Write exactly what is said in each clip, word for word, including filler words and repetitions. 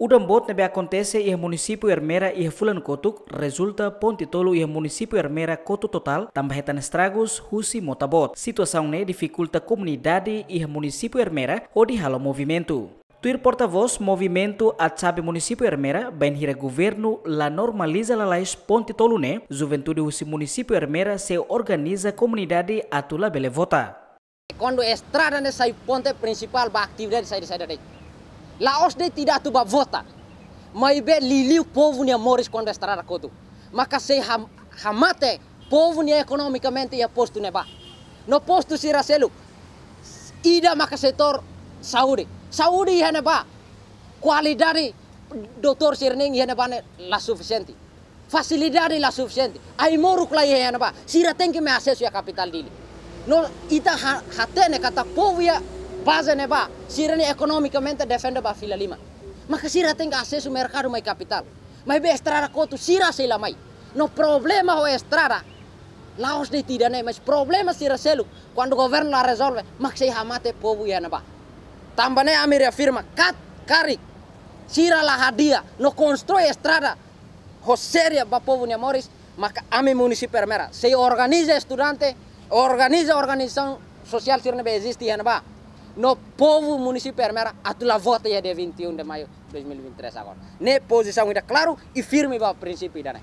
Udan boot ne'ebé akontese iha munisípiu Ermera iha fulan kotuk, rezulta ponte tolu iha munisípiu Ermera kotu totál, tanba hetan estragus husi mota boot. Situasaun ne'e difikulta komunidade iha munisípiu Ermera hodi halo movimentu. Tuir portavós Movimentu Atxabe Munisípiu Ermera, bainhira governu la normaliza lalais ponte tolu ne'e, juventude husi munisípiu Ermera sei organiza komunidade atu labele vota. Kuandu estrada ne'e sai ponte prinsipál ba atividade saida-saida de'it. La'ós de'it ida atu ba vota. Maibé liuliu povu nia moris kuandu estrada kotu. Maka sei ham-, hamate povu nia ekonomikamente iha postu ne'ebá. No postu sira seluk. Ida maka setór saúde. Saúde iha ne'ebá. Kualidade doutór sira-nian iha ne'ebá ne'e la sufisiente. Fasilidade la sufisiente. Ai-moruk la iha iha ne'ebá. Sira tenke mai asesu iha kapitál Dili. No ita ha-, hatene katak povu iha baze ne'ebá, sira-nia ekonomikamente defende ba fila liman. Maka sira tenke asesu merkadu mai kapitál. Maibé estrada kotu sira sei la mai. No problema ho estrada la'ós de'it ida-ne'e, mas problema sira seluk. Kuandu governu la rezolve, mak sei hamate povu iha ne'ebá. Tanba ne'e ami reafirma, kat-, karik sira la hadi'a no konstrui estrada ho séria ba povu nia moris, maka ami munisípiu Ermera sei organiza estudante, organiza organizasaun sosiál sira ne'ebé eziste iha ne'ebá. No povu munisípiu Ermera atu la vota iha dia vinte e um de maio dois mil e vinte e três agora. Ne'e pozisaun ida klaru i firme ba prinsípiu ida-ne'e.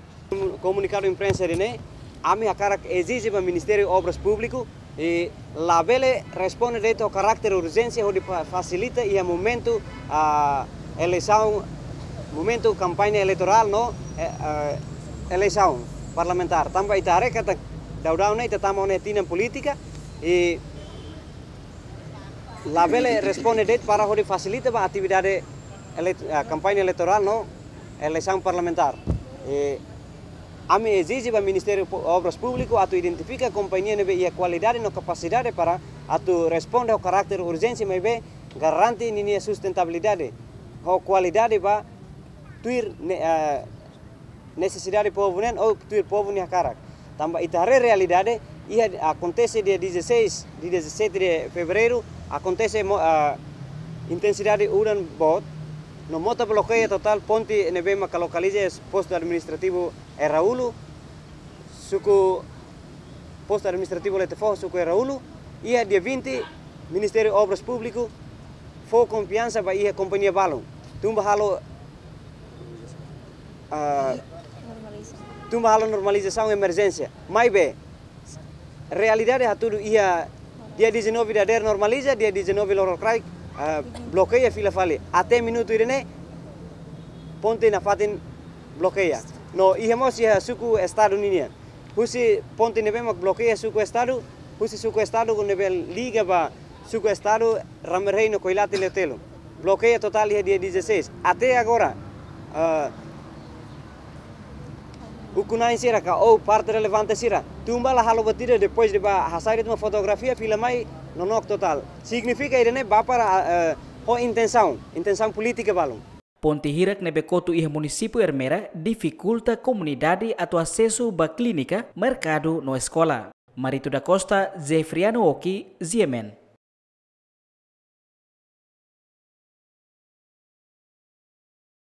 Komunikadu imprensa ida-ne'e, ami hakarak ezije ba Ministériu Obras Públiku, i labele responde de'it ho karáter urjénsia hodi fa-, fasilita iha momentu, ah, eleisaun, momentu kampaña eleitorál no, eh, eh, eleisaun parlamentár. Tanba ita haree katak daudaun ne'e ita tama ona iha tinan polítika, i labele responde de'it para hodi fasilita ba atividade ele-, ah, kampaña eleitorál no eleisaun parlamentár. I ami ezije ba Ministériu Pu-, Obras Públiku atu identifika kompañia ne'ebé iha kualidade no kapasidade para atu responde ho karáter urjénsia maibé garante ninia sustentabilidade ho kualidade ba tuir ne-, ah, nesesidade povu nian ou tuir povu nia hakarak. Tanba ita haree realidade, iha akontese dia dezasseis, dia dezassete de fevereiru, akontese mo-, ah, intensidade udan boot, no mota blokeia totál ponte ne'ebé maka lokaliza iha postu administrativu Eraúlu, suku postu administrativu Letefoho, suku Eraúlu, iha dia vinte, Ministériu Obras Públiku fó konfiansa ba iha kompañia balun. Tun ba halo, ah, tun ba halo normalizasaun emerjénsia. Maibé, realidade hatudu iha dia dezanove dadeer normaliza, dia dezanove lorokraik, ah, blokeia fila fali. Até minutu ida-ne'e, ponte nafatin blokeia. No iha mós iha suku Estadu ninian. Husi ponte ne'ebé mak blokeia suku Estadu, husi suku Estadu ne'ebé liga ba suku Estadu Rama Rei no Koilate Leotelo. Blokeia totál iha dia dezasseis. Até agora, ah, ukun-na'in sira ka ou parte relevante sira tun ba la halo buat ida, depois de ba hasai de'it mak fotografia, fila mai, nonook totál. Signifika ida-ne'e ba para, ah, eh, ho intensaun, intensaun polítika balun. Ponte hirak ne'ebé kotu iha munisípiu Ermera difikulta komunidade atu asesu ba klínika, merkadu no eskola. Marito da Costa, Zefriano Oki, G M N.